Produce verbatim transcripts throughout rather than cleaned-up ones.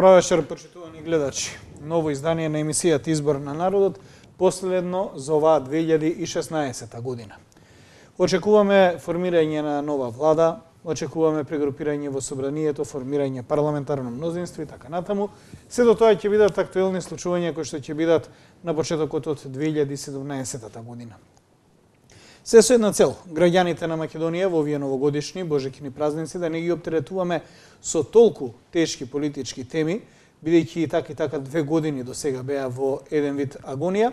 Добро вечер, почитувани гледачи. Ново издание на емисијата Избор на народот, последно за оваа две илјади и шеснаесета година. Очекуваме формирање на нова влада, очекуваме прегрупирање во собранието, формирање парламентарно мнозинство и така натаму. Се до тоа ќе бидат актуелни случувања кои што ќе бидат на почетокот од две илјади и седумнаесета година. Се со една цел, граѓаните на Македонија во овие новогодишни божекини празници да не ги оптеретуваме со толку тешки политички теми, бидејќи и така и така две години до сега беа во еден вид агонија,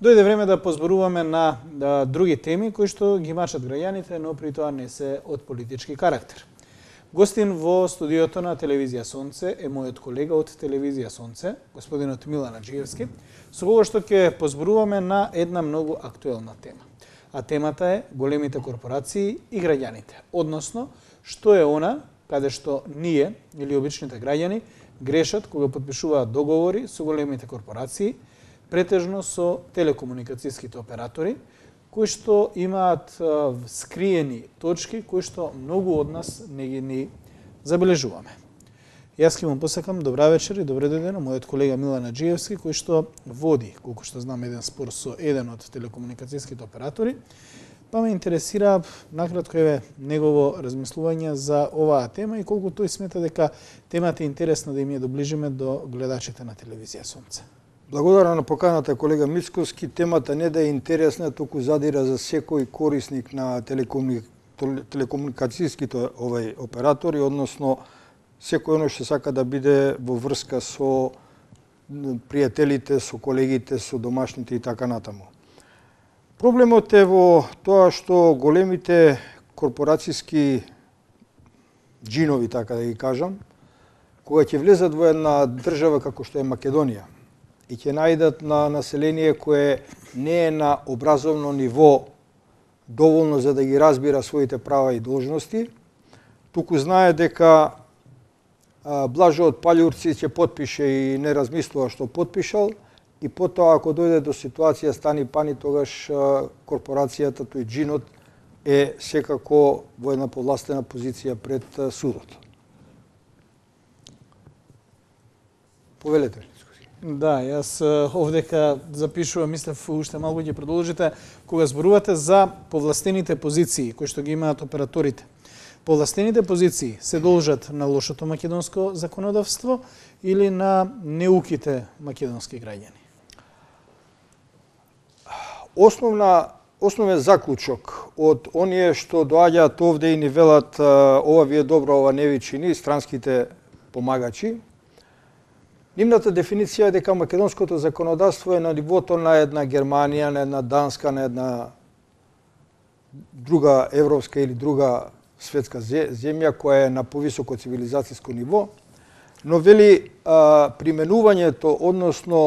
дојде време да позборуваме на да, други теми кои што ги мачат граѓаните, но при тоа не се од политички карактер. Гостин во студиото на Телевизија Сонце е мојот колега од Телевизија Сонце, господинот Милан Аџиевски, со кого што ќе позборуваме на една многу актуелна тема. А темата е големите корпорации и граѓаните, односно што е она каде што ние или обичните граѓани грешат кога потпишуваат договори со големите корпорации, претежно со телекомуникацијските оператори, кои што имаат а, скриени точки кои што многу од нас не ги ни забележуваме. Јас ќе му посакам добра вечер и добре дојде на мојот колега Милан Аџиевски, кој што води, колку што знам, еден спор со еден од телекомуникацијските оператори. Па ме интересира накратко еве негово размислување за оваа тема и колку тој смета дека темата е интересна да им ја доближиме до гледачите на Телевизија Сонце. Благодарам на поканата колега Мицковски. Темата не да е интересна, туку задира за секој корисник на телекомуни... телекомуникацијските овај оператори, односно секој оно што сака да биде во врска со пријателите, со колегите, со домашните и така натаму. Проблемот е во тоа што големите корпорацијски джинови, така да ги кажам, кога ќе влезат во една држава како што е Македонија и ќе најдат на население кое не е на образовно ниво доволно за да ги разбира своите права и должности, туку знае дека Блажо од Палјурци ќе потпише и не размислува што потпишал, и потоа ако дојде до ситуација стани пани, тогаш корпорацијата, тој джинот, е секако во една повластена позиција пред судот. Повелете ли? Да, јас овдека запишувам, мислев уште малку ќе продолжите, кога зборувате за повластените позиции кои што ги имаат операторите. Повластените позиции се должат на лошото македонско законодавство или на неуките македонски граѓани? Основна, основен заклучок од оние што доаѓаат овде и ни велат ова ви е добро, ова не ви чини, странските помагачи, нивната дефиниција е дека македонското законодавство е на нивото на една Германија, на една Данска, на една друга европска или друга светска земја која е на повисоко цивилизацијско ниво, но вели а, применувањето, односно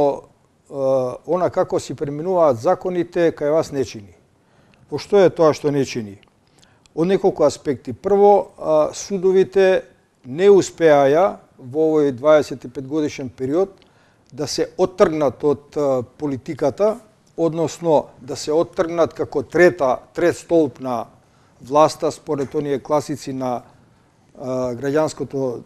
а, она како си применуваат законите, кај вас не чини. Во што е тоа што не чини? Од неколку аспекти. Прво, а, судовите не успеаја во овој дваесет и пет годишен период да се оттргнат од а, политиката, односно да се оттргнат како трета, трет столб на власта според оние класици на а, граѓанското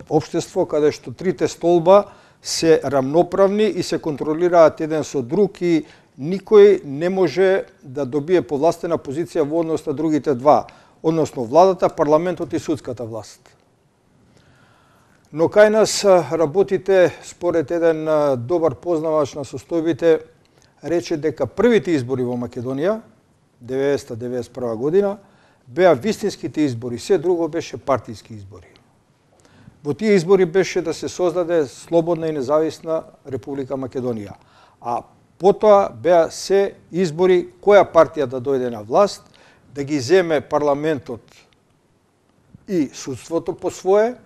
општество, каде што трите столба се рамноправни и се контролираат еден со друг и никој не може да добие повластена позиција во однос на другите два, односно владата, парламентот и судската власт. Но кај нас работите, според еден добар познавач на состојбите, рече дека првите избори во Македонија деветдесета до деветдесет и прва година, беа вистинските избори, се друго беше партиски избори. Во тие избори беше да се создаде слободна и независна Република Македонија. А потоа беа се избори која партија да дојде на власт, да ги земе парламентот и судството по свое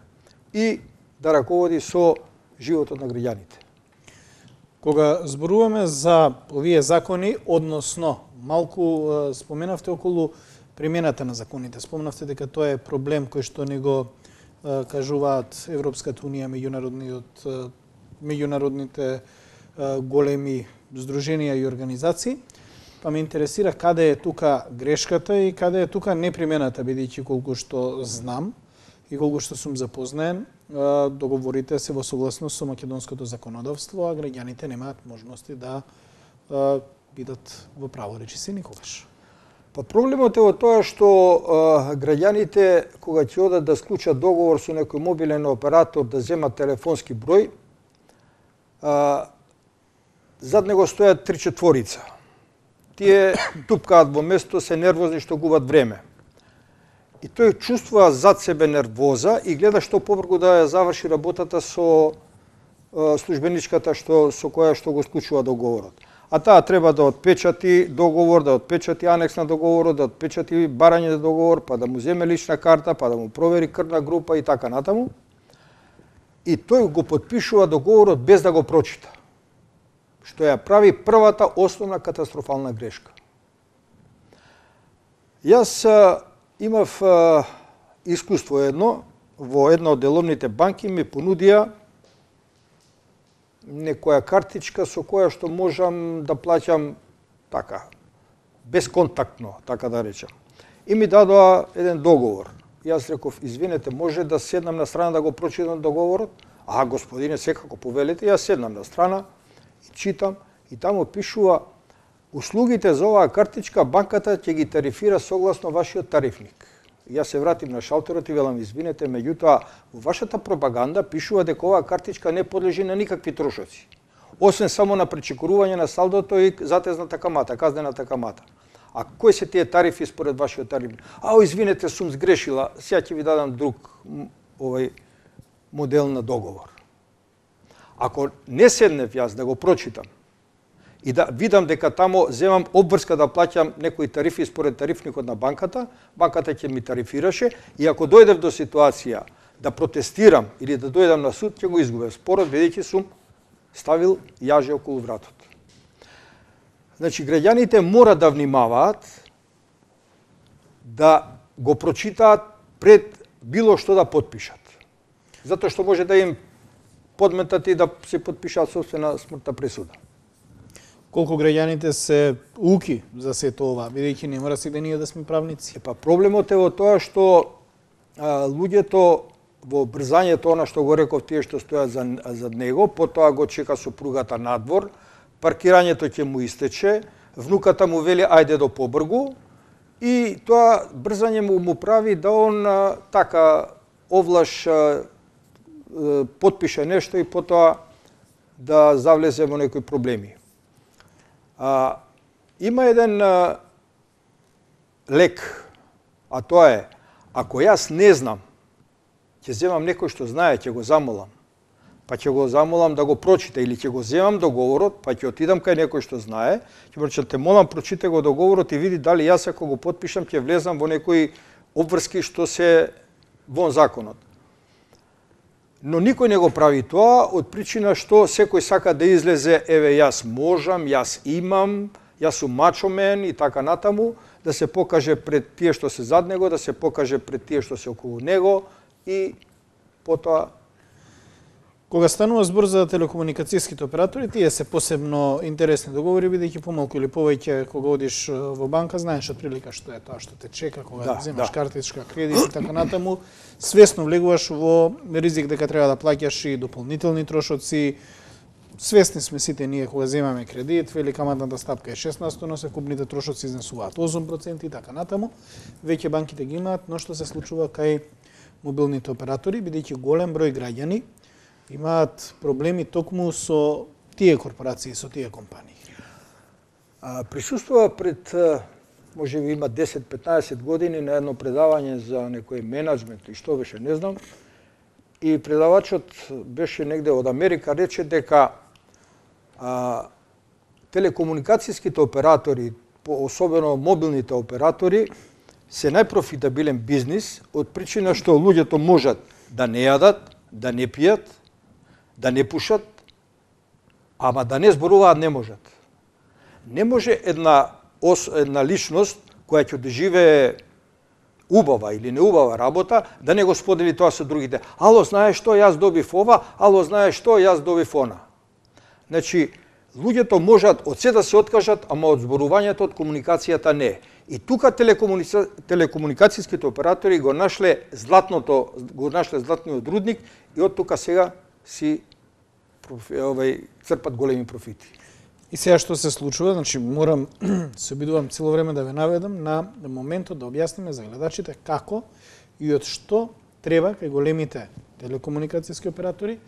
и да раководи со животот на граѓаните. Кога зборуваме за овие закони, односно, малку споменавте околу примената на законите. Споменавте дека тоа е проблем кој што не го кажуваат Европската унија, меѓународниот, меѓународните големи здруженија и организации. Па ме интересира каде е тука грешката и каде е тука непримената, бидејќи колку што знам, и колку што сум запознаен, договорите се во согласност со македонското законодавство, а граѓаните немаат можности да бидат во праворечиси никогаш. Па проблемот е во тоа што а, граѓаните кога ќе одат да склучат договор со некој мобилен оператор да земат телефонски број, а, зад него стојат три четворица. Тие тупкаат во место, се нервозни што губат време. И тој чувствува зад себе нервоза и гледа што побрзо да ја заврши работата со а, службеничката што со која што го склучува договорот. А таа треба да отпечати договор, да отпечати анекс на договорот, да отпечати барање за договор, па да му земе лична карта, па да му провери крвна група и така натаму. И тој го потпишува договорот без да го прочита. Што ја прави првата основна катастрофална грешка. Јас а, имав а, искуство едно, во една од деловните банки ми понудија некоја картичка со која што можам да плаќам така, безконтактно, така да речам. И ми дадоа еден договор. Јас реков, извинете, може да седнам на страна да го прочитам договорот? А, господине, секако повелите, јас седнам на страна и читам, и таму пишува услугите за оваа картичка банката ќе ги тарифира согласно вашиот тарифник. Јас се вратим на шалтерот и велам, извинете, меѓутоа, во вашата пропаганда пишува дека оваа картичка не подлежи на никакви трошоци, освен само на пречекорување на салдото и затезната камата, казнената камата. А кои се тие тарифи според вашиот тарифник? Ао, извинете, сум сгрешила, сега ќе ви дадам друг овај модел на договор. Ако не седнев јас да го прочитам и да видам дека тамо земам обврска да плаќам некои тарифи според тарифникот на банката, банката ќе ми тарифираше и ако дојдев до ситуација да протестирам или да дојдам на суд, ќе го изгубев спорот, бидејќи сум ставил јаже околу вратот. Значи, граѓаните мора да внимаваат да го прочитаат пред било што да потпишат. Затоа што може да им подметат и да се потпишат собствена смртна пресуда. Колку граѓаните се уки за сето ова, бидејќи не мора сите ние да сме правници? Епа проблемот е во тоа што а, луѓето во брзањето, она што го реков, тие што стојат за, за него, потоа го чека сопругата надвор, паркирањето ќе му истече, внуката му вели ајде до побргу и тоа брзање му, му прави да он а, така овлаш а, потпише нешто и потоа да завлезе во некои проблеми. А, има еден а, лек, а тоа е, ако јас не знам, ќе земам некој што знае, ќе го замолам, па ќе го замолам да го прочита, или ќе го земам договорот, па ќе отидам кај некој што знае, ќе прочитам, те молам, прочите го договорот и види дали јас ако го потпишам ќе влезам во некои обврски што се вон законот. Но никој не го прави тоа, од причина што секој сака да излезе, еве јас можам, јас имам, јас сум мачомен и така натаму, да се покаже пред тие што се зад него, да се покаже пред тие што се околу него и потоа. Кога станува збор за телекомуникацијските оператори, тие се посебно интересни договори, бидејќи помалку или повеќе кога одиш во банка, знаеш отприлика што е тоа што те чека, кога да, земаш да. Картичка, кредит и така натаму, свесно влегуваш во ризик дека треба да плаќаш и дополнителни трошоци. Свесни сме сите ние кога земаме кредит, вели каматната стапка е шеснаесет, но секупните трошоци изнесуваат осум проценти и така натаму. Веќе банките ги имаат, но што се случува кај мобилните оператори, бидејќи голем број граѓани имаат проблеми токму со тие корпорации, со тие компании. А, присуствува пред, може би има десет-петнаесет години на едно предавање за некој менеджмент и што беше, не знам. И предавачот беше негде од Америка, рече дека а, телекомуникацијските оператори, особено мобилните оператори, се најпрофитабилен бизнис од причина што луѓето можат да не јадат, да не пијат, да не пушат, ама да не зборуваат не можат. Не може една, ос, една личност која ќе доживее убава или неубава работа, да не го сподели тоа со другите. Ало, знаеш што, јас добив ова, ало, знаеш што, јас добив она. Значи, луѓето можат од се да се откажат, ама од зборувањето, од комуникацијата не. И тука телекомуници... телекомуникацијските оператори го нашле златното, го нашле златниот рудник и од тука сега си овај црпат големи профити. И сега што се случува, значи морам се обидувам цело време да ве наведам на моментот да објасниме за гледачите како и од што треба кај големите телекомуникацијски оператори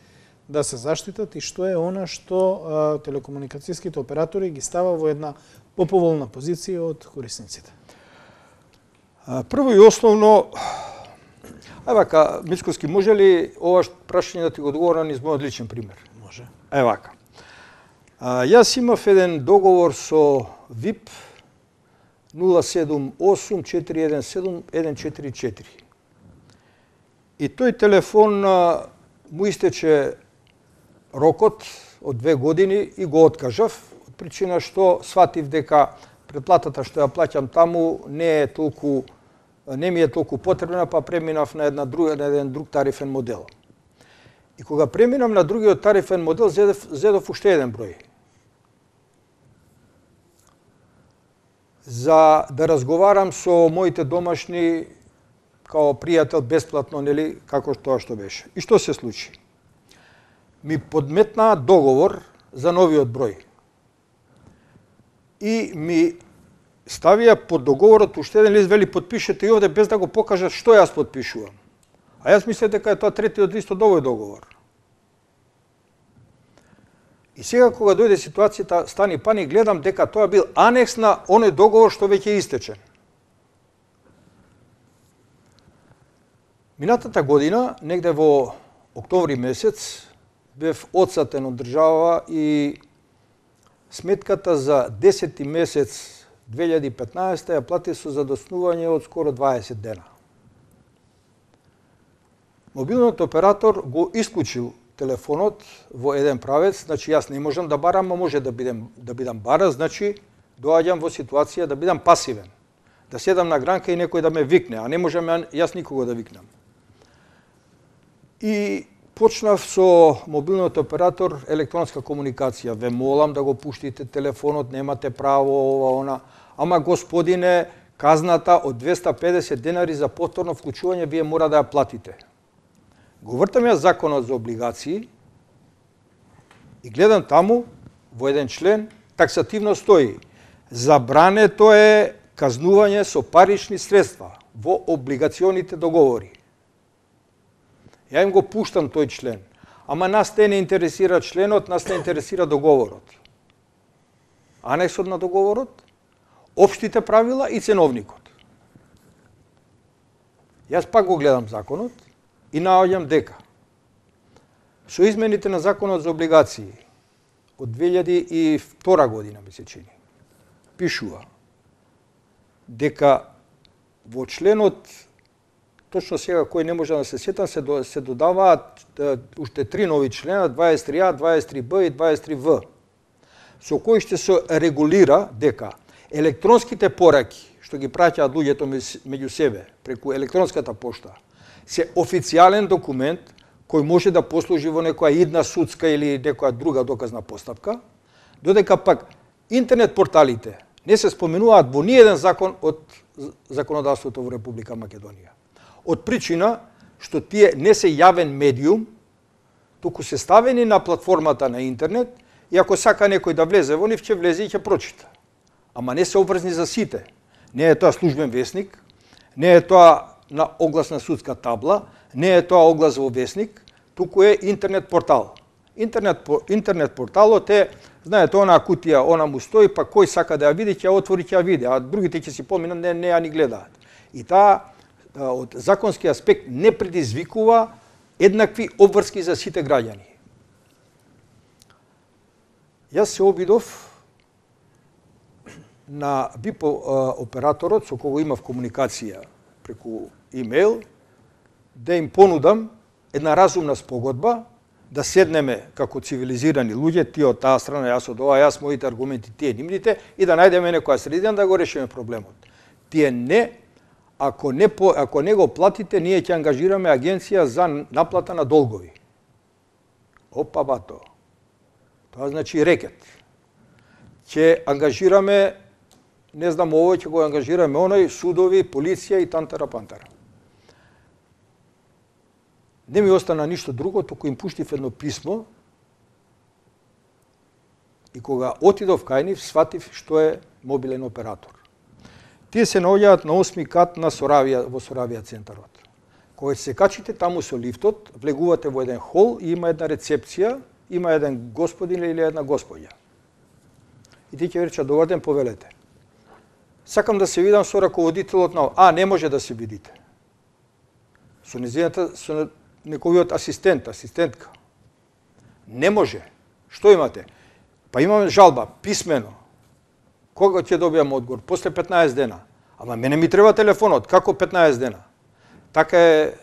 да се заштитат и што е она што а, телекомуникацијските оператори ги става во една поповолна позиција од корисниците. А, прво и основно, ај вака, Мицковски, може ли ова прашање да ти го одговорам низ мојот личен пример? Може. Е вака. А, јас имав еден договор со ви ай пи нула седум осум четири еден седум еден четири четири. И тој телефон а, му истече рокот од две години и го откажав, од причина што сватив дека претплатата што ја плаќам таму не е толку не ми е толку потребна, па преминав на една друга на еден друг тарифен модел. И кога преминам на другиот тарифен модел, зедов, зедов уште еден број. За да разговарам со моите домашни као пријател бесплатно, нели, како тоа што беше. И што се случи? Ми подметнаа договор за новиот број. И ми ставија под договорот уште еден лист, вели потпишете и овде без да го покажат што јас потпишувам. А јас мислев дека е тоа третиот лист од овој договор. И сега кога дојде ситуацијата, стани паник, гледам дека тоа бил анекс на оној договор што веќе е истечен. Минатата година, негде во октомври месец, бев отсатен од држава и сметката за десети месец две илјади и петнаесета ја плати со задоснување од скоро дваесет дена. Мобилниот оператор го исклучил телефонот во еден правец, значи јас не можам да барам, а може да бидам да бидам бара, значи доаѓам во ситуација да бидам пасивен. Да седам на гранка и некој да ме викне, а не можам јас никого да викнам. И почнав со мобилниот оператор електронска комуникација. Ве молам да го пуштите телефонот, немате право ова она. Ама господине, казната од двеста педесет денари за повторно вклучување вие мора да ја платите. Го вртам ја законот за облигации и гледам таму во еден член таксативно стои: забрането е казнување со парични средства во облигационите договори. Ја им го пуштам тој член. Ама нас те не интересира членот, нас не интересира договорот. Анексот на договорот, општите правила и ценовникот. Јас пак го гледам законот и наоѓам дека со измените на законот за облигации од две илјади и втора година, ми се чини, пишува дека во членот, точно сега кој не може да се сетам, се, до, се додаваат уште три нови члена, дваесет и три а, дваесет и три б и дваесет и три в, со кои ще се регулира дека електронските пораки, што ги праќаат луѓето меѓу себе преку електронската пошта, се официјален документ кој може да послужи во некоја идна судска или некоја друга доказна постапка, додека пак интернет порталите не се споменуваат во ниеден закон од законодавството во Република Македонија. Од причина што тие не се јавен медиум, туку се ставени на платформата на интернет и ако сака некој да влезе во нив, ќе влезе и ќе прочита. Ама не се обврзни за сите. Не е тоа службен весник, не е тоа на оглас на судска табла, не е тоа оглас во весник, туку е интернет портал. Интернет, интернет порталот е, знаете, она кутија, она му стои, па кој сака да ја види, ќе ја отвори, ќе ја види, а другите ќе си поминат, не, не ја ни гледаат. И таа од законски аспект не предизвикува еднакви обврски за сите граѓани. Јас се обидов на ви ай пи операторот со кого имав комуникација преку имейл, да им понудам една разумна спогодба, да седнеме како цивилизирани луѓе, тие од таа страна, јас од ова, јас моите аргументи, тие нивните, и да најдеме некоја средина да го решиме проблемот. Тие не Ако не, ако не го платите, ние ќе ангажираме агенција за наплата на долгови. Опа, бато. Тоа значи рекет. Ќе ангажираме не знам, овој ќе го ангажираме, оној, судови, полиција и тантара пантара. Не ми остана ништо друго, току им пуштив едно писмо и кога отидов кај нив, сватив што е мобилен оператор. Тие се наоѓаат на осми кат на Соравија, во Соравија центарот. Кога се качите таму со лифтот, влегувате во еден хол и има една рецепција, има еден господин или една господја. И ти ќе рече, добар ден, повелете. Сакам да се видам со раководителот на... А, не може да се видите. Со незината, со неговиот асистент, асистентка. Не може. Што имате? Па имаме жалба, писмено. Кога ќе добијам одговор? После петнаесет дена. Ама мене ми треба телефонот. Како петнаесет дена? Така е,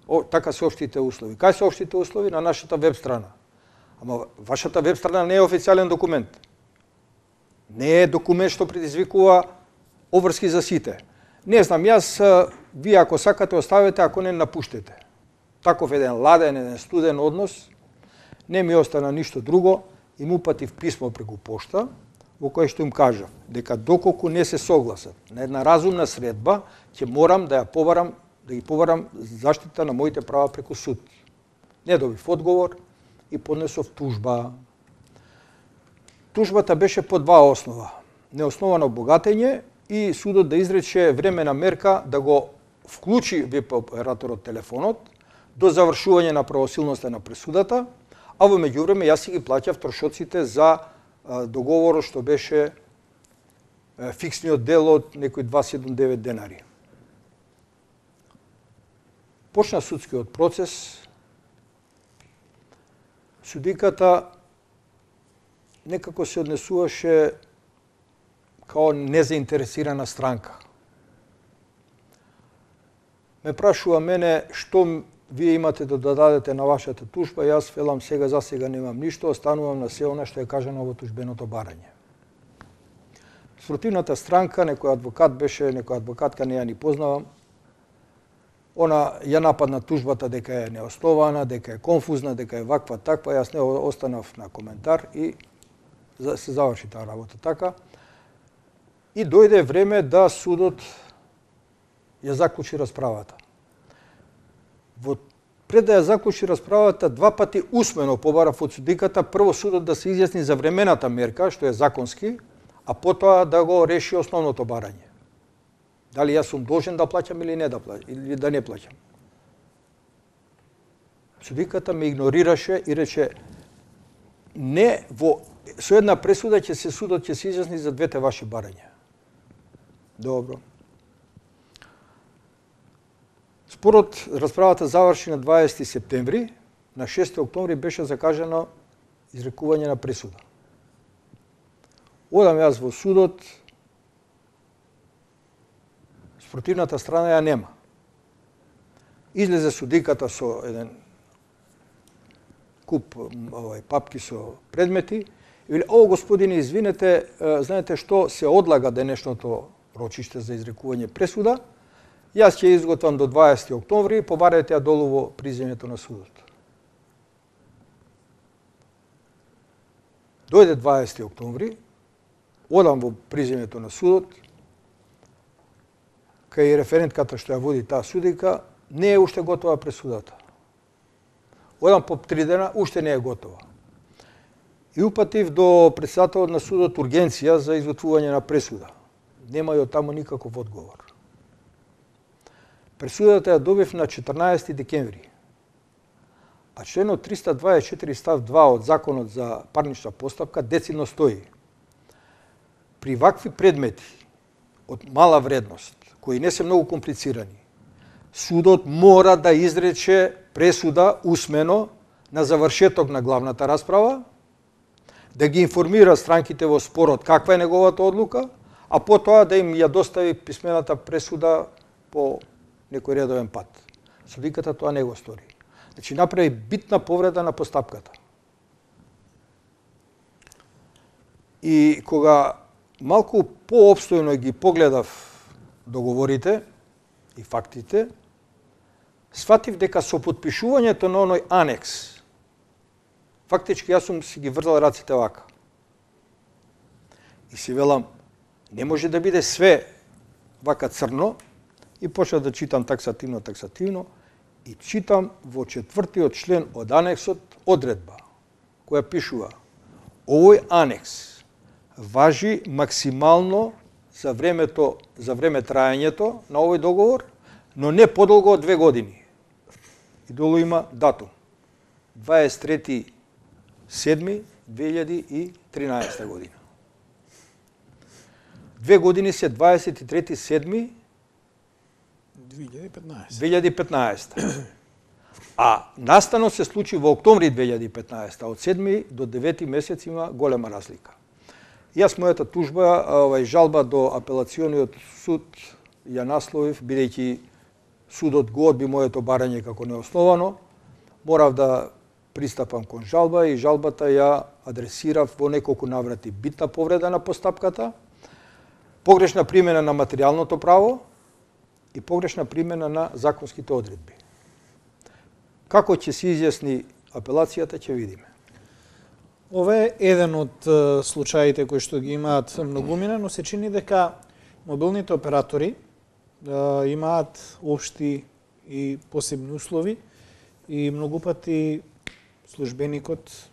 о, така се општите услови. Кај се општите услови? На нашата веб страна. Ама вашата веб страна не е официјален документ. Не е документ што предизвикува обврски за сите. Не знам, јас, вие ако сакате оставете, ако не напуштете. Таков еден ладен, еден студен однос, не ми остана ништо друго, им упатив писмо преку пошта, во кое што им кажав дека доколку не се согласат на една разумна средба, ќе морам да ја побарам, да ги побарам заштита на моите права преку суд. Не добив одговор и поднесов тужба. Тужбата беше по два основа. Неосновано богатење и судот да изрече времена мерка да го вклучи веб операторот телефонот до завршување на правосилноста на пресудата, а во меѓувреме јас си ги плаќав трошоците за договорот што беше фиксниот дел од некои дваесет и девет денари. Почна судскиот процес. Судиката некако се однесуваше као незаинтересирана странка. Ме прашува мене што вие имате да дадете на вашата тужба, јас велам сега за сега немам ништо, останувам на се она што е кажано во тужбеното барање. Спротивната странка, некој адвокат беше, некоја адвокатка, не ја ни познавам, она ја нападна тужбата дека е неоснована, дека е конфузна, дека е ваква таква, јас не останав на коментар и се заврши таа работа така. И дојде време да судот ја заклучи расправата. Во пред да ја заклучи расправата, два пати усмено побарав од судиката, прво судот да се изјасни за времената мерка, што е законски, а потоа да го реши основното барање. Дали јас сум должен да плаќам или не да плаќам, или да не плаќам. Судиката ме игнорираше и рече, не, во со една пресуда ќе се судот ќе се изјасни за двете ваши барања. Добро. Спорот, расправата заврши на дваесети септември, на шести октомври беше закажано изрекување на пресуда. Одам јас во судот, спротивната страна ја нема. Излезе судиката со еден куп овај папки со предмети и вели, о, господине, извинете, знаете што, се одлага денешното рочиште за изрекување пресуда, јас ќе изготвам до дваесети октомври, побарете ја долу во приземјето на судот. Дојде дваесети октомври, одам во приземјето на судот, кај референтката што ја води таа судика, не е уште готова пресудата. Одам по три дена, уште не е готова. И упатив до председателот на судот ургенција за изготвување на пресуда. Нема и од таму никаков одговор. Пресудата ја добив на четрнаесети декември. А членот триста дваесет и четири став два од Законот за парнична постапка децидно стои. При вакви предмети од мала вредност, кои не се многу комплицирани, судот мора да изрече пресуда усмено на завршеток на главната расправа, да ги информира странките во спорот каква е неговата одлука, а потоа да им ја достави писмената пресуда по некој редовен пат. Судиката тоа не го стори. Значи, направи битна повреда на постапката. И кога малку поопстојно ги погледав договорите и фактите, сватив дека со потпишувањето на оној анекс, фактички јас сум си ги врзал раците вака. И си велам, Не може да биде све вака црно, и почнав да читам таксативно, таксативно, и читам во четвртиот член од анексот одредба, која пишува: овој анекс важи максимално за времето, за време траењето на овој договор, но не подолго од две години. И долу има датум. дваесет и трети седми две илјади и тринаесета година. Две години се дваесет и трети седми две илјади и петнаесета. две илјади и петнаесета. А настанот се случи во октомври две илјади и петнаесета. Од седми до девети месец има голема разлика. Јас мојата тужба, овај жалба до апелациониот суд ја насловив, бидејќи судот го одби моето барање како неосновано, морав да пристапам кон жалба и жалбата ја адресирав во неколку наврати: битна повреда на постапката, погрешна примена на материјалното право и погрешна примена на законските одредби. Како ќе се изјасни апелацијата, ќе видиме. Ова е еден од е, случаите кои што ги имаат многумина, но се чини дека мобилните оператори е, имаат општи и посебни услови и многу пати службеникот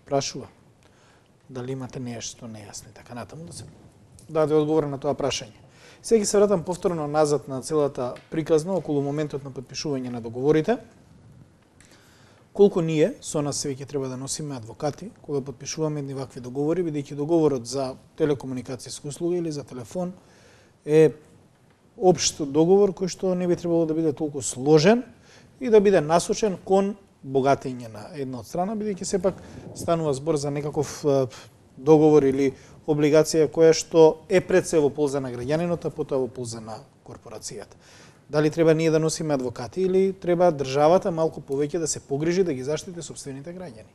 прашува дали имате нешто нејасно и така натаму, да се даде одговор на тоа прашање. Сега се вратам повторно назад на целата приказна околу моментот на подпишување на договорите. Колку ние со нас се веќе треба да носиме адвокати кога подпишуваме едни вакви договори, бидејќи договорот за телекомуникацијска услуга или за телефон е општ договор кој што не би требало да биде толку сложен и да биде насочен кон богатење на една од страна, бидејќи сепак станува збор за некаков договор или облигација која што е пред се во полза на граѓанинот, а потоа во полза на корпорацијата. Дали треба ние да носиме адвокати или треба државата малку повеќе да се погрижи да ги заштити сопствените граѓани?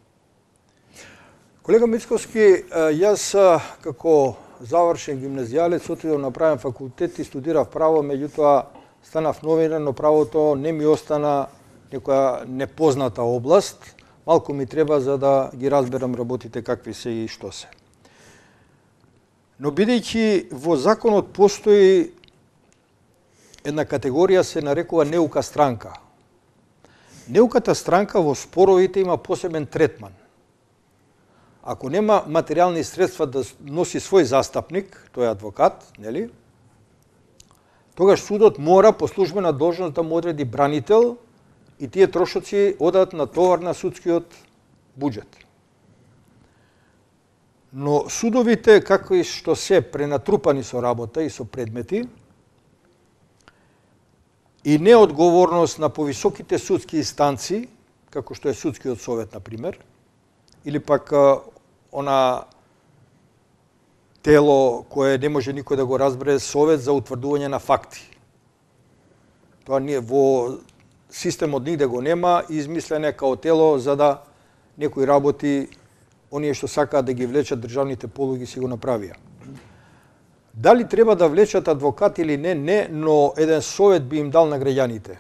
Колега Мицковски, јас како завршен гимназијалец отидов на правен факултет и студирав право, меѓутоа станав новинар, но правото не ми остана некоја непозната област. Малку ми треба за да ги разберам работите какви се и што се. Но бидејќи во законот постои една категорија се нарекува неука странка. Неуката странка во споровите има посебен третман. Ако нема материјални средства да носи свој застапник, тој е адвокат, нели? Тогаш судот мора по службена должност да му одреди бранител и тие трошоци одат на товар на судскиот буџет. Но судовите, како и што се пренатрупани со работа и со предмети, и неодговорност на повисоките судски инстанции, како што е судскиот совет, например, или пак она тело кое не може никој да го разбере, совет за утврдување на факти. Тоа не во системот нигде го нема, измислено као тело за да некои работи, оние што сакаат да ги влечат државните полуги, си го направија. Дали треба да влечат адвокат или не, не, но еден совет би им дал на граѓаните.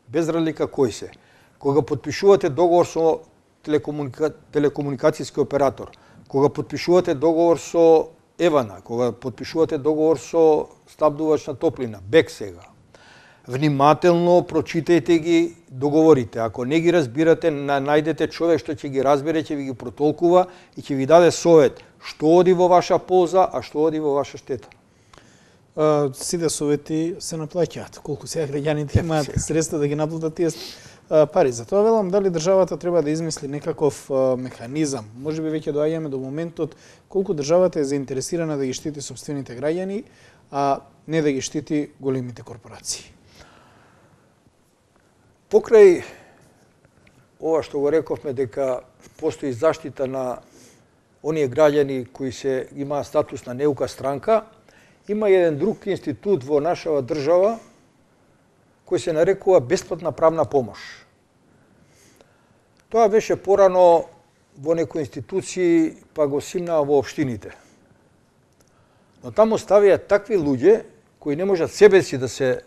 Без разлика кој се. Кога подпишувате договор со телекомуника... телекомуникацијски оператор, кога подпишувате договор со Евана, кога подпишувате договор со снабдувач на топлина, БЕК сега, внимателно прочитајте ги договорите. Ако не ги разбирате, најдете човек што ќе ги разбере, ќе ви ги протолкува и ќе ви даде совет што оди во ваша полза, а што оди во ваша штета. Uh, сите совети се наплаќаат. Колку сега граѓаните имаат средства да ги наплатат тие uh, пари. Затоа велам дали државата треба да измисли некаков uh, механизам. Може би веќе доаѓаме до моментот колку државата е заинтересирана да ги штити сопствените граѓани, а не да ги штити големите корпорации. Покрај ова што го рековме дека постои заштита на оние граѓани кои се имаат статус на неука странка, има еден друг институт во нашава држава кој се нарекува бесплатна правна помош. Тоа беше порано во некои институции, па го симнаа во општините. Но таму ставија такви луѓе кои не можат себе си да се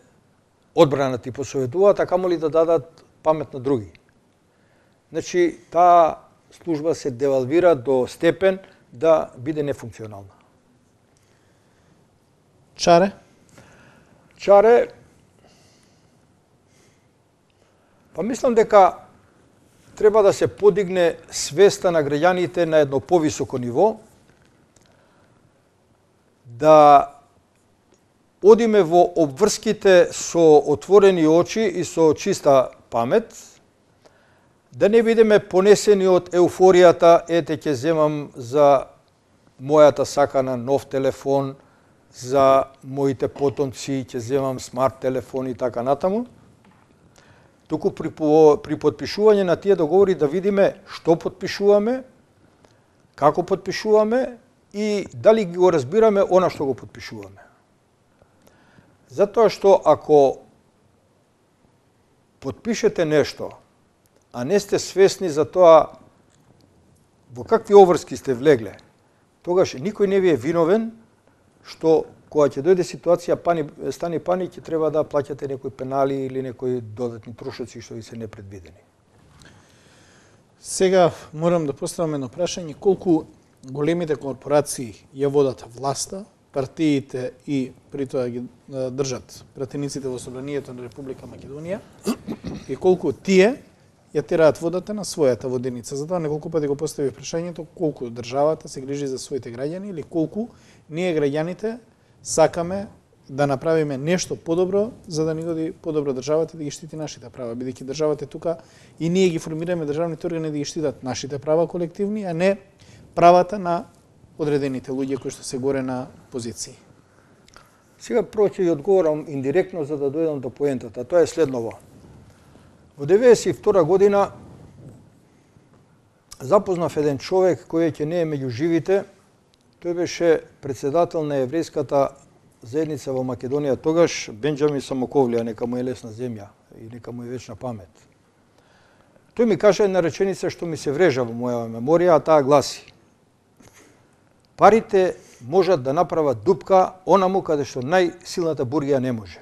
одбранат и посоветуваат, а камоли да дадат памет на други. Значи, таа служба се девалвира до степен да биде нефункционална. Чаре? Чаре, па мислам дека треба да се подигне свеста на граѓаните на едно повисоко ниво, да одиме во обврските со отворени очи и со чиста памет, да не бидеме понесени од еуфоријата, ете ќе земам за мојата сакана нов телефон, за моите потомци ќе земам смарт телефон и така натаму. Туку при, при подпишување на тие договори да видиме што подпишуваме, како подпишуваме и дали го разбираме она што го подпишуваме. Затоа што ако подпишете нешто, а не сте свесни за тоа во какви обврски сте влегле, тогаш никој не ви е виновен што кога ќе дојде ситуација, пани, стани паник, ќе треба да плаќате некои пенали или некои додатни трошоци што ви се непредвидени. Сега морам да поставам едно прашање, колку големите корпорации ја водат власта, партиите и при тоа ги држат пратениците во собранието на Република Македонија и колку тие ја тераат водата на својата воденица. Затоа неколку пати го постави прашањето колку државата се грижи за своите граѓани или колку ние граѓаните сакаме да направиме нешто подобро за да ни годи подобро државата да ги штити нашите права, бидејќи државата е тука и ние ги формираме државните органи да ги штитат нашите права колективни, а не правата на одредените луѓе кои што се горе на позиции. Сега прво ќе ви одговорам индиректно за да дојдам до поентата. Тоа е следново. Во деветдесет и втора година запознав еден човек кој ќе не е меѓу живите. Тој беше председател на еврејската заедница во Македонија тогаш, Бенџамин Самоковлија, нека му е лесна земја и нека му е вечна памет. Тој ми каже една реченица што ми се врежа во моја меморија, а таа гласи: парите можат да направат дупка онаму каде што најсилната бургија не може.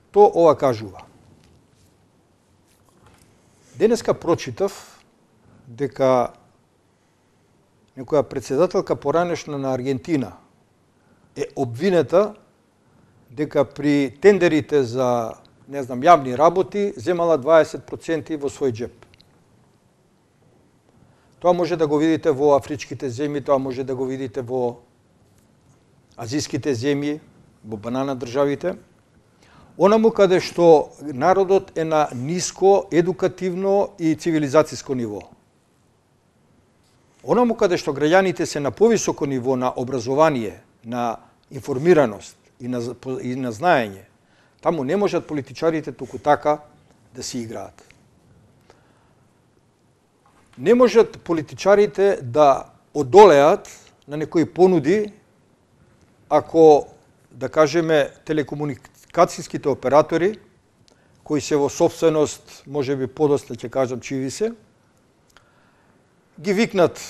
Што ова кажува? Денеска прочитав дека некоја председателка поранешна на Аргентина е обвинета дека при тендерите за, не знам, јавни работи земала дваесет проценти во свој джеп. Тоа може да го видите во афричките земји, тоа може да го видите во азиските земји, во банана државите. Онаму каде што народот е на ниско едукативно и цивилизацијско ниво. Онаму каде што граѓаните се на повисоко ниво на образование, на информираност и на, и на знаење, таму не можат политичарите туку така да си играат. Не можат политичарите да одолеат на некои понуди ако, да кажеме, телекомуникацијските оператори, кои се во собственост, може би подоста ќе кажам чиви се, ги викнат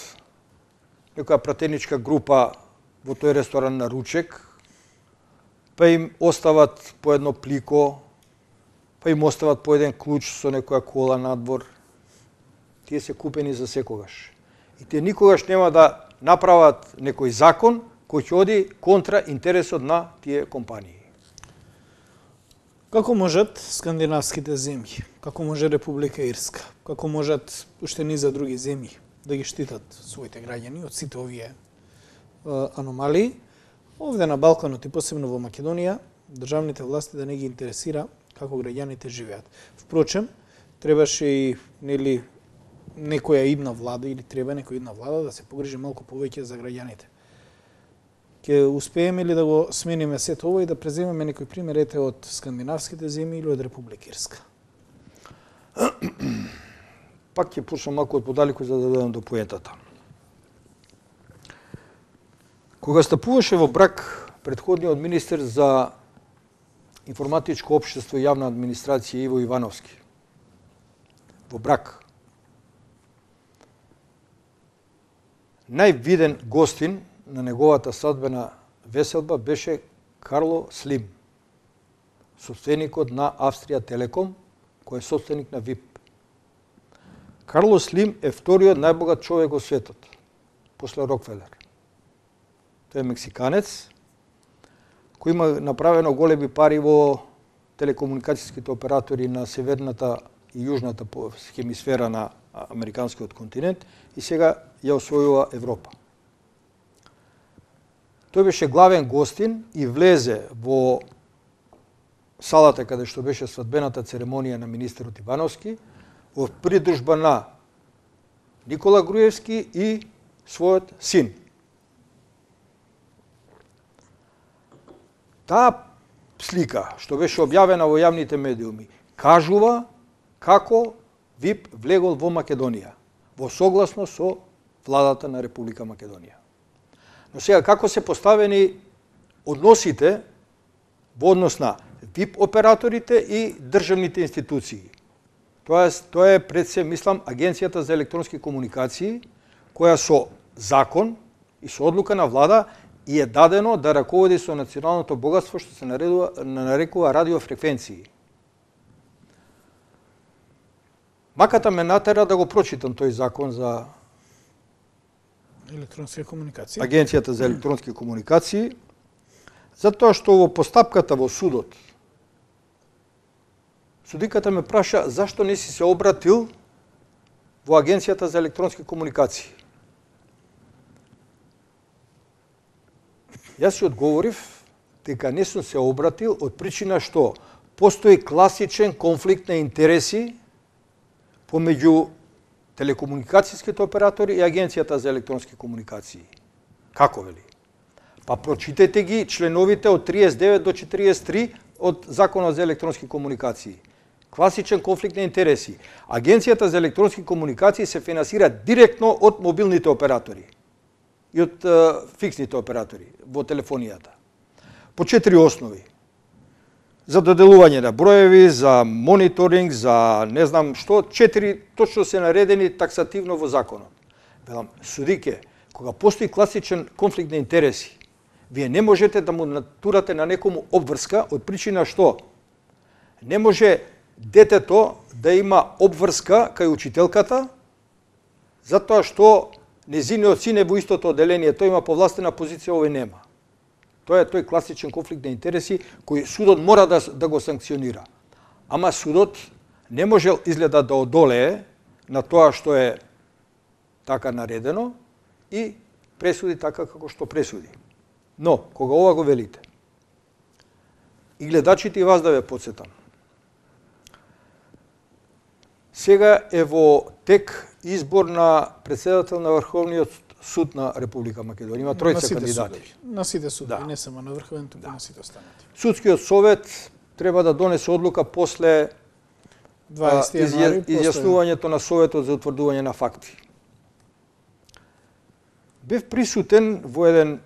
некоја пратеничка група во тој ресторан на ручек, па им остават по едно плико, па им остават по еден клуч со некоја кола надвор. Тие се купени за секогаш. И тие никогаш нема да направат некој закон кој ќе оди контра интересот на тие компании. Како можат скандинавските земји, како може Република Ирска, како можат уште низа други земји да ги штитат своите граѓани од сите овие а, аномалии? Овде на Балканот и посебно во Македонија, државните власти да не ги интересира како граѓаните живеат. Впрочем, требаше и нели некоја идна влада или треба некоја идна влада да се погрижи малку повеќе за граѓаните. Ќе успееме ли да го смениме сето ова и да преземеме некој пример ете од скандинавските земји или од Република Ирска? Пак ќе почнам малку од подалеку за да дојдам до поентата. Кога стапуваше во брак претходниот министер за информатичко општество и јавна администрација Иво Ивановски, во брак, највиден гостин на неговата свадбена веселба беше Карло Слим, собственикот на Австрија Телеком, кој е собственик на ВИП. Карло Слим е вториот најбогат човек во светот, после Рокфелер. тој е мексиканец, кој има направено големи пари во телекомуникацијските оператори на северната и јужната хемисфера на американскиот континент и сега ја освојува Европа. Тој беше главен гостин и влезе во салата каде што беше свадбената церемонија на министерот Ивановски во придружба на Никола Груевски и својот син. Таа слика, што беше објавена во јавните медиуми, кажува како ВИП влегол во Македонија, во согласност со владата на Република Македонија. Но сега, како се поставени односите во однос на ВИП операторите и државните институции? Тоа е, тоа е пред се, мислам, Агенцијата за електронски комуникации, која со закон и со одлука на влада и е дадено да раководи со националното богатство што се наредува, нарекува радиофреквенции. Маката ме натера да го прочитам тој закон за електронски комуникации. Агенцијата за електронски комуникации, затоа што во постапката во судот, судиката ме праша зашто не си се обратил во Агенцијата за електронски комуникации. Јас си одговорив дека не сум се обратил од причина што постои класичен конфликт на интереси помеѓу телекомуникацијските оператори и Агенцијата за електронски комуникации. Како вели? Па прочитете ги членовите од триесет и девет до четириесет и три од Законот за електронски комуникации. Класичен конфликт на интереси. Агенцијата за електронски комуникации се финансира директно од мобилните оператори и од uh, фиксните оператори во телефонијата. По четири основи. За доделување на броеви, за мониторинг, за не знам што, четири точно се наредени таксативно во законот. Велам, судике, кога постои класичен конфликт на интереси, вие не можете да му натурате на некому обврска од причина што не може детето да има обврска кај учителката, затоа што незиниот син е во истото оделение, тој има повластена позиција, овој нема. Тоа е тој класичен конфликт на интереси кој судот мора да, да го санкционира. Ама судот не можел изгледа да одолее на тоа што е така наредено и пресуди така како што пресуди. Но, кога ова го велите, и гледачите и вас да ве подсетам, сега е во тек избор на председател на Врховниот суд на Република Македонија. Има тројца кандидати. Судови. На сите судови, да. Не само на Врховен, туку да. на сите останати. Судскиот совет треба да донесе одлука после дваесети јануари, изјаснувањето на Советот за утврдување на факти. Бев присутен во еден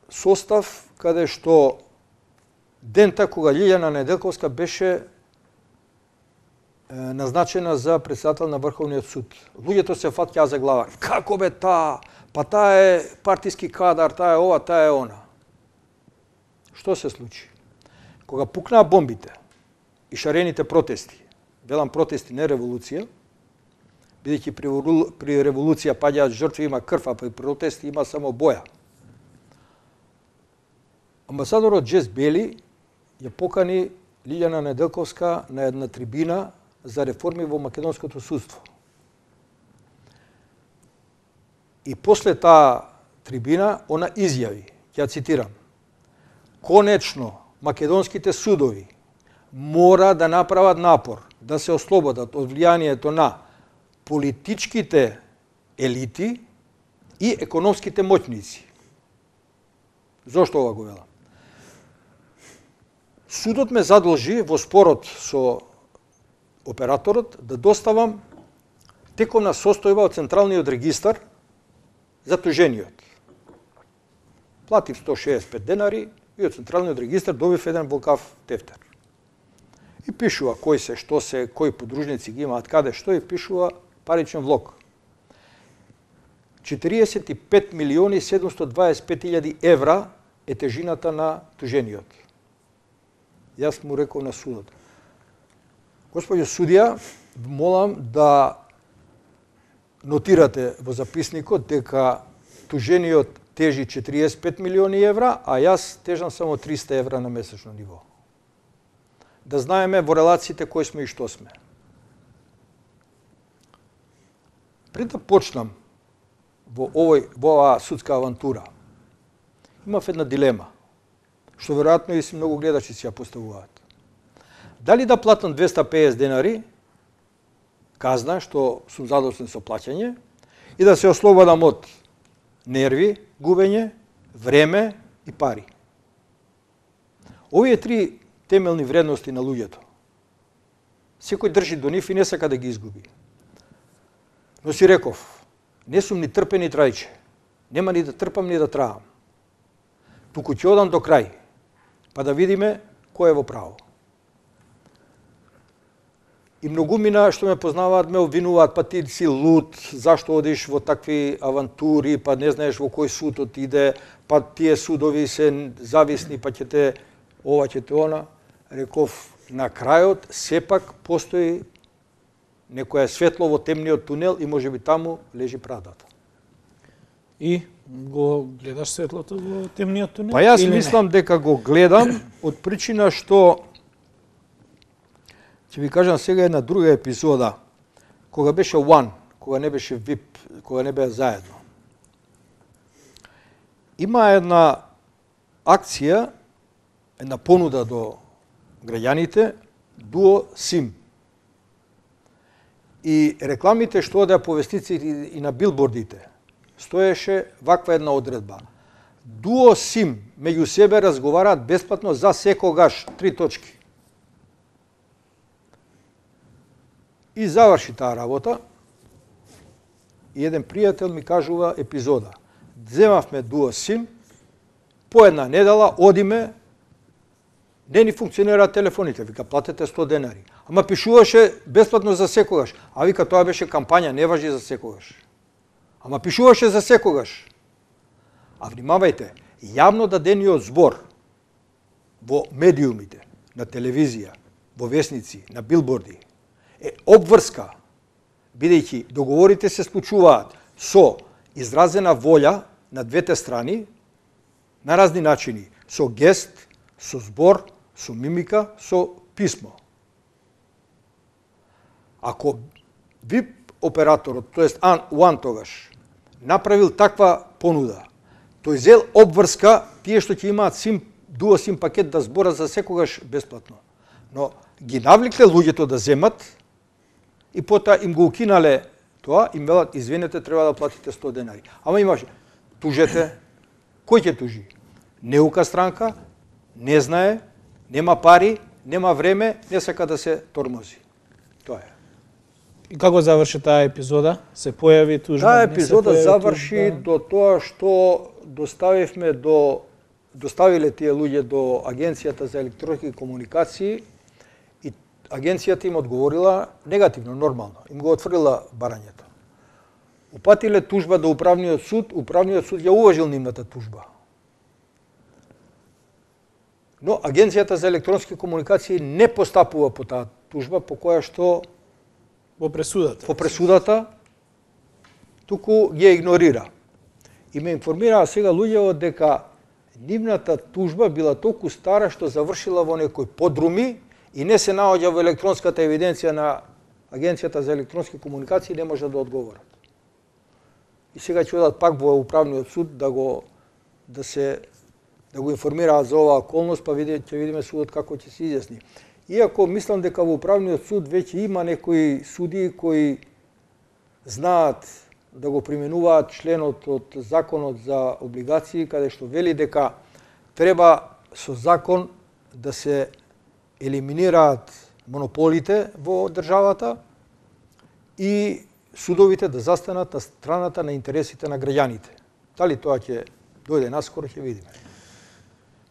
состав каде што дента кога Лилјана Неделковска беше назначена за председател на Врховниот суд. Луѓето се фаќаа за глава. Како бе таа? Па таа е партиски кадар, таа е ова, таа е она. Што се случи? Кога пукнаа бомбите и шарените протести, велам протести, не револуција, бидејќи при, при револуција паѓаат жртви, има крв, а при протести има само боја. Амбасадорот Джес Бели ја покани Лилјана Неделковска на една трибина за реформи во македонското судство. И после таа трибина, она изјави, ќе цитирам, конечно, македонските судови мора да направат напор да се ослободат од влијанието на политичките елити и економските моќници. Зошто ова го велам? Судот ме задолжи во спорот со операторот да доставам тековна состојба од Централниот регистар за тужениот. Платив сто шеесет и пет денари и од Централниот регистар добив еден волкав тефтер. И пишува кој се, што се, кои подружници ги имаат, каде, што, и пишува паричен влог. четириесет и пет милиони седумстотини дваесет и пет илјади евра е тежината на тужениот. Јас му реков на судот: Господјо судија, молам да нотирате во записникот дека Тужениот тежи четириесет и пет милиони евра, а јас тежам само триста евра на месечно ниво. Да знаеме во релациите кои сме и што сме. Пред да почнам во овој во оваа судска авантура, имав една дилема, што веројатно и си многу гледачи си ја поставуваат. Дали да платам двеста и песет денари, казна, што сум задоволен со плаќање, и да се ослободам од нерви, губење, време и пари. Овие три темелни вредности на луѓето. Секој држи до нив и не сака да ги изгуби. Но си реков, не сум ни трпен ни трајче. Нема ни да трпам ни да траам. Туку ќе одам до крај, па да видиме кој е во право. И многумина што ме познаваат ме обвинуваат, па ти си луд, зашто одиш во такви авантури, па не знаеш во кој суд отиде, па тие судови се зависни, па ќе те ова, ќе те она. Реков, на крајот сепак постои некоја светло во темниот тунел и можеби таму лежи правдата. И го гледаш светлото во темниот тунел? Па јас или мислам не? дека го гледам од причина што ќе ви кажам сега една друга епизода, кога беше One, кога не беше ви ай пи, кога не беа заедно. Има една акција, една понуда до граѓаните, Duo SIM. И рекламите што одеа по вестниците и на билбордите, стоеше ваква една одредба. Duo SIM меѓу себе разговараат бесплатно за секогаш, три точки. И заврши таа работа. И еден пријател ми кажува епизода. Земавме Duo SIM, по една недела одиме, не ни функционираат телефоните, вика платете сто денари. Ама пишуваше бесплатно за секогаш. А вика тоа беше кампања, не важи за секогаш. Ама пишуваше за секогаш. А внимавајте, јавно дадениот збор во медиумите, на телевизија, во весници, на билборди, е обврска, бидејќи договорите се случуваат со изразена волја на двете страни, на разни начини, со гест, со збор, со мимика, со писмо. Ако ви ай пи операторот, тоест One тогаш, направил таква понуда, тој зел обврска тие што ќе имаат сим, Duo SIM пакет да збора за секогаш бесплатно. Но ги навликле луѓето да земат и потоа им го укинале тоа, им велат, извинете, треба да платите сто денари. Ама имаше, тужете, кој ќе тужи? Неука странка, не знае, нема пари, нема време, не сака да се тормози. Тоа е. И како заврши таа епизода? Се појави тужба? Таа епизода заврши тужба? До тоа што доставивме до доставиле тие луѓе до Агенцијата за електронски комуникации и агенцијата им одговорила негативно, нормално. Им го отфрла барањето. Упатиле тужба до управниот суд, управниот суд ја уважил нивната тужба. Но Агенцијата за електронски комуникации не постапува по таа тужба, по која што во пресудата. Во пресудата туку ги игнорира. И ме информираа сега луѓето дека нивната тужба била толку стара што завршила во некои подруми и не се наоѓа во електронската евиденција на Агенцијата за електронски комуникации, не може да одговорат. И сега ќе одат пак во управниот суд да го да се да го информираат за оваа околност, па види, ќе видиме судот како ќе се изјасни. Иако мислам дека во управниот суд веќе има некои судии кои знаат да го применуваат членот од законот за облигации, каде што вели дека треба со закон да се елиминираат монополите во државата и судовите да застанат на страната на интересите на граѓаните. Дали тоа ќе дојде наскоро, ќе видиме.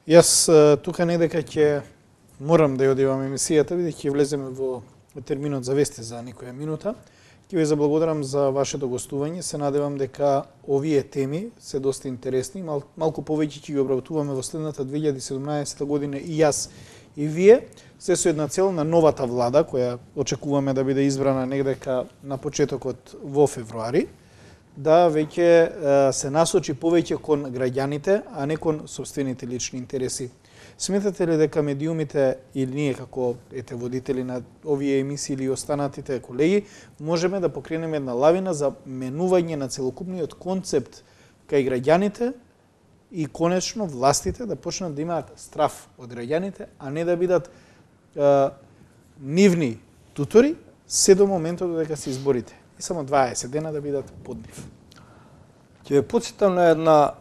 Јас тука недека ќе морам да ја одивам емисијата, бидејќи ќе влеземе во терминот за вести за некоја минута. Ќе ви заблагодарам за вашето гостување. Се надевам дека овие теми се доста интересни. Мал, малку повеќе ќе ги обработуваме во следната две илјади и седумнаесета година и јас и вие, се со една цел на новата влада, која очекуваме да биде избрана негдека на почетокот во февруари, да веќе се насочи повеќе кон граѓаните, а не кон сопствените лични интереси. Сметате ли дека медиумите или ние како ете водители на овие емисии или останатите колеги можеме да покренеме една лавина за менување на целокупниот концепт кај граѓаните и конечно властите да почнат да имаат страф од граѓаните, а не да бидат е, нивни тутори се до моментот додека се изборите. И само дваесет дена да бидат под нив. Ќе ве потсетам на една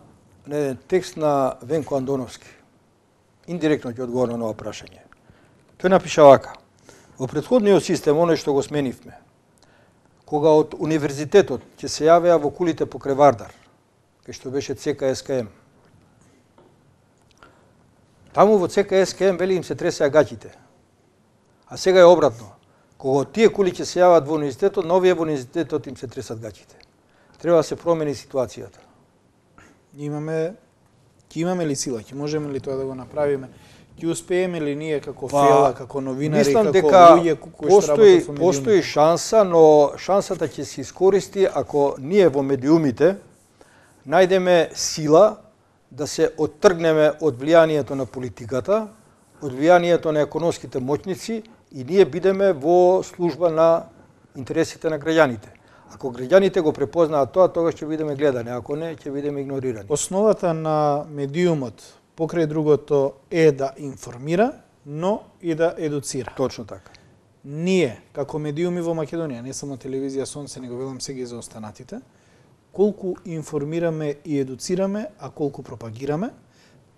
на еден текст на Венко Андоновски. Индиректно ќе одговорам на ова прашање. Тој напиша вака: во претходниот систем, оној што го сменивме, кога од универзитетот ќе се јавеа во кулите покрај Вардар, кај што беше Це Ка Ес Ка Ем, таму во Це Ка Ес Ка Ем вели им се тресеа гаќите. А сега е обратно. Кога тие кули ќе се јават во универзитетот, на овие во универзитетот им се тресат гаќите. Треба да се промени ситуацијата. Имаме, ќе имаме ли сила, ќе можеме ли тоа да го направиме? Ќе успееме ли ние како Па, фела, како новинари, мислам како дека луѓе кои што постои, работат во медиумите? постои шанса, но шансата ќе се искористи ако ние во медиумите најдеме сила да се оттргнеме од влијанието на политиката, од влијанието на економските моќници и ние бидеме во служба на интересите на граѓаните. Ако граѓаните го препознаат тоа, тогаш ќе бидеме гледани, ако не, ќе бидеме игнорирани. Основата на медиумот, покрај другото, е да информира, но и да едуцира. Точно така. Ние, како медиуми во Македонија, не само телевизија Сонце, него велам сега и за останатите, колку информираме и едуцираме, а колку пропагираме,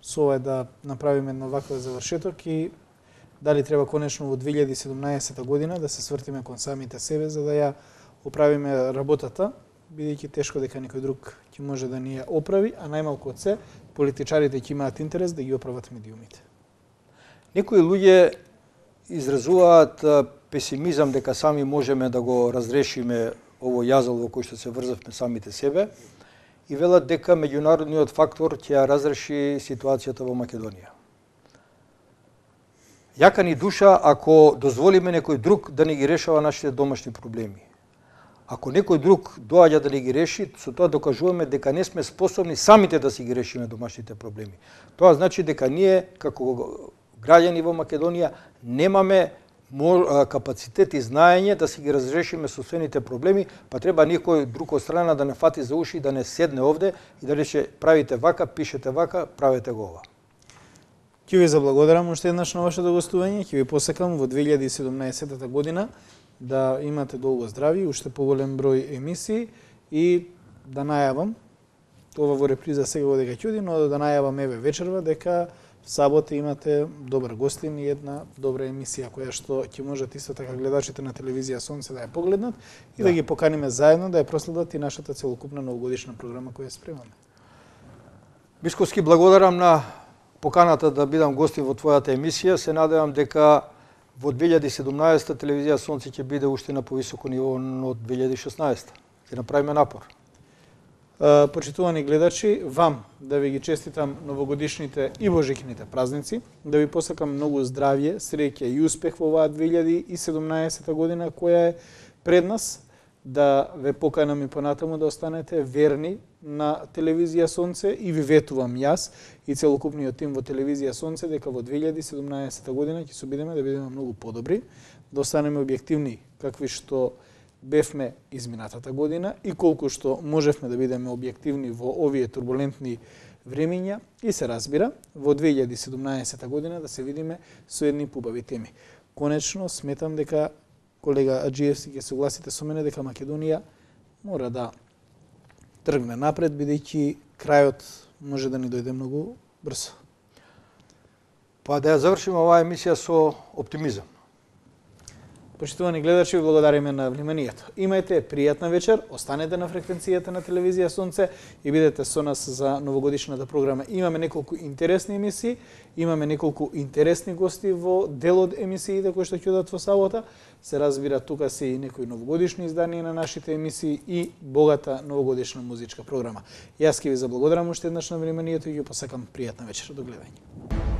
со ова да направиме едно ваков завршеток и дали треба конечно во две илјади и седумнаесета година да се свртиме кон самите себе за да ја оправиме работата, бидејќи тешко дека некој друг ќе може да ни ја оправи, а најмалку од се политичарите ќе имаат интерес да ги оправат медиумите. Некои луѓе изразуваат песимизам дека сами можеме да го разрешиме ово јазол во кој што се врзавме самите себе и велат дека меѓународниот фактор ќе ја разреши ситуацијата во Македонија. Јака ни душа ако дозволиме некој друг да ни ги решава нашите домашни проблеми. Ако некој друг доаѓа да ни ги реши, со тоа докажуваме дека не сме способни самите да си ги решиме домашните проблеми. Тоа значи дека ние, како граѓани во Македонија, немаме капацитет и знаење да си ги разрешиме собствените проблеми, па треба никој друг од страна да не фати за уши, да не седне овде и да рече правите вака, пишете вака, правете го ова. Ќе ви заблагодарам уште еднаш на вашето гостување, ќе ви посекам во две илјади и седумнаесета година да имате долго здрави, уште поголем број емисии и да најавам, ова во реприза сега дека ќе оди, но да најавам еве вечерва дека в сабота имате добар гостин и една добра емисија која што ќе можат исто така гледачите на телевизија Сонце да ја погледнат и да, да ги поканиме заедно да ја проследат и нашата целокупна новогодишна програма која спремаме. Бисковски, благодарам на поканата да бидам гостин во твојата емисија. Се надевам дека во две илјади и седумнаесета телевизија Сонце ќе биде уште на повисоко ниво од две илјади и шеснаесета. Ќе направиме напор. Почитувани гледачи, вам да ви ги честитам новогодишните и божикните празници, да ви посакам многу здравје, среќа и успех во оваа две илјади и седумнаесета година која е пред нас, да ве поканам и понатаму да останете верни на телевизија Сонце и ви ветувам јас и целокупниот тим во телевизија Сонце дека во две илјади и седумнаесета година ќе се обидеме да бидеме многу подобри, да останеме објективни какви што бевме изминатата година и колку што можевме да бидеме објективни во овие турбулентни времиња и се разбира во две илјади и седумнаесета година да се видиме со едни побави теми. Конечно сметам дека колега Аџиевски ќе согласите со мене дека Македонија мора да тргне напред бидејќи крајот може да ни дојде многу брзо. Па да ја завршиме оваа емисија со оптимизам. Почитувани гледачи, ви благодариме на вниманието. Имајте пријатна вечер, останете на фреквенцијата на телевизија Сонце и бидете со нас за новогодишната програма. Имаме неколку интересни емисии, имаме неколку интересни гости во дел од емисиите кои што ќе одат во сабота. Се разбира, тука се и некои новогодишни изданија на нашите емисии и богата новогодишна музичка програма. Јас ќе ви заблагодарам уште еднаш на вниманието и ќе посакам пријатна вечер. До гледање.